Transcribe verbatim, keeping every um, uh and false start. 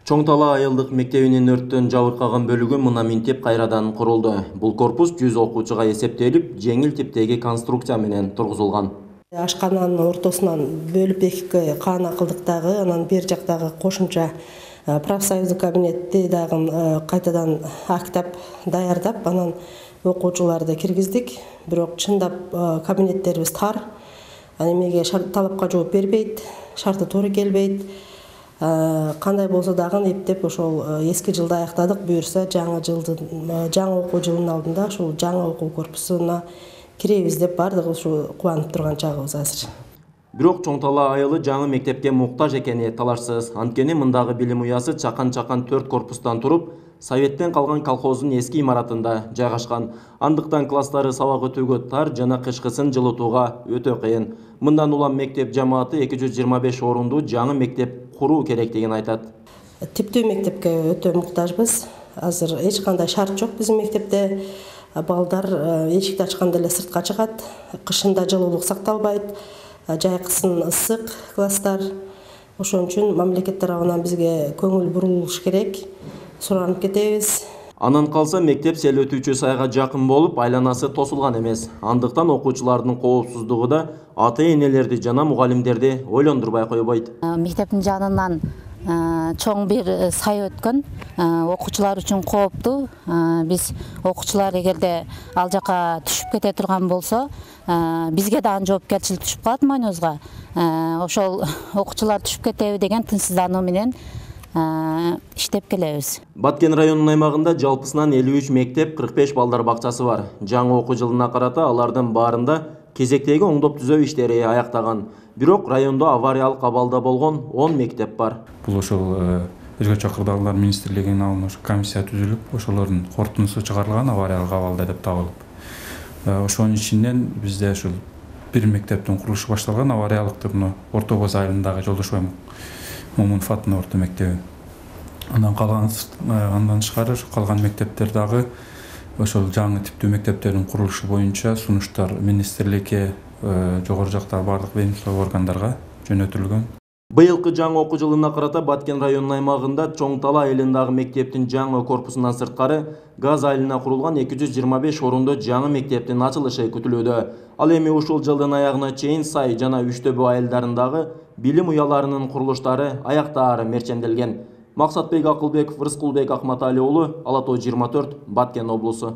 Чоң Тала айылдык мектебинин өрттөн жабыркаган бөлүгү мына минтип кайрадан курулду. Бул корпус жүз окуучуга эсептелип, жеңил типтеги конструкция менен тургузулган. Ашкананын ортосунан бөлүп экиге каана кылдык дагы, анан бер жактагы кошумча профсоюздук кабинетти дагы кайтадан актап, даярдап, анан окуучуларды киргиздик. Бирок чындап кабинеттерибиз тар, эмеге талапка жооп бербейт, шарты туура келбейт. Кандай болсо дагы эптеп ошол эски жылда аяктадык, буюрса жаңы жылдын жаңы окуу жылынын алдында ушул жаңы окуу корпусуна киребиз деп баардыгы ушу кубанып турган чагыбыз азыр. Бирок Чоң Тала айылы жаңы мектепке муктаж экени талашсыз. Анткени мындагы билим уясы чакан-чакан төрт корпустан туруп, Советтен калган колхоздун эски имаратында жайгашкан. Андыктан класстары сабак өтүүгө тар жана кышкысын жылытууга өтө кыйын. Мындан улам мектеп жамааты эки жүз жыйырма беш орунду жаңы мектеп куруу керектигин айтат. Типтүү мектепке өтө муктажбыз. Азыр эч кандай шарт жок биздин мектепте. Балдар эшикти ачканда эле сыртка чыгат, кышында жылуулук сакталбайт, жайкысын ысык класстар. Ошон үчүн мамлекет тарабынан бизге көңүл бурулуш керек. Суранып кетебиз. Анан калса мектеп сел өтүүчү сайга жакын болуп, айланасы тосулган эмес. Андыктан окуучулардын коопсуздугу да ата-энелерди жана мугалимдерди ойлондурбай койбойт. Мектептин жанынан чоң бир сай өткөн, окуучулар үчүн кооптуу. Биз окуучулар эгерде ал жака түшүп кете турган болсо, бизге да жоопкерчилик түшүп калат мойнубузга. Ошол окуучулар түшүп кетеби деген тынчсыздануу менен иштеп келебиз. Баткен районунун аймагында жалпысынан элүү үч мектеп, кырк беш балдар бакчасы бар. Жаңы окуу жылына карата алардын баарында кезектеги оңдоп түзөө иштери аяктаган. Бирок райондо авариялык абалда болгон он мектеп бар. Бул ошол өзгөчө кырдаалдар министрлигинин алдына комиссия түзүлүп, ошолордун корутундусу чыгарылган авариялык абалда деп табылып. Ошонун ичинен бизде ушул бир мектептин курулушу башталган, авариялыктыр мына Орто Боз айылындагы Жолдошбай Момунфаттын орто мектеби. Андан калган андан тышкары калган мектептер дагы ошол жаңы типтүү мектептердин курулушу боюнча сунуштар министрликке, жогору жактагы бардык ведомство органдарга жөнөтүлгөн. Быйылкы жаңы окуу жылына карата Баткен районунун аймагында Чоң Тала айылындагы мектептин жаңы корпусунан сырткары газ айылына курулган эки жүз жыйырма беш орунду жаңы мектептин ачылышы күтүлүүдө. Ал эми ушул жылдын аягына чейин Сай жана Үчтөбө айылдарындагы билим уяларынын курулуштары аяктаары мерченделген. Максатбек Акылбеков, Рыскулбек Акматали уулу, Ала Тоо жыйырма төрт, Баткен облусу.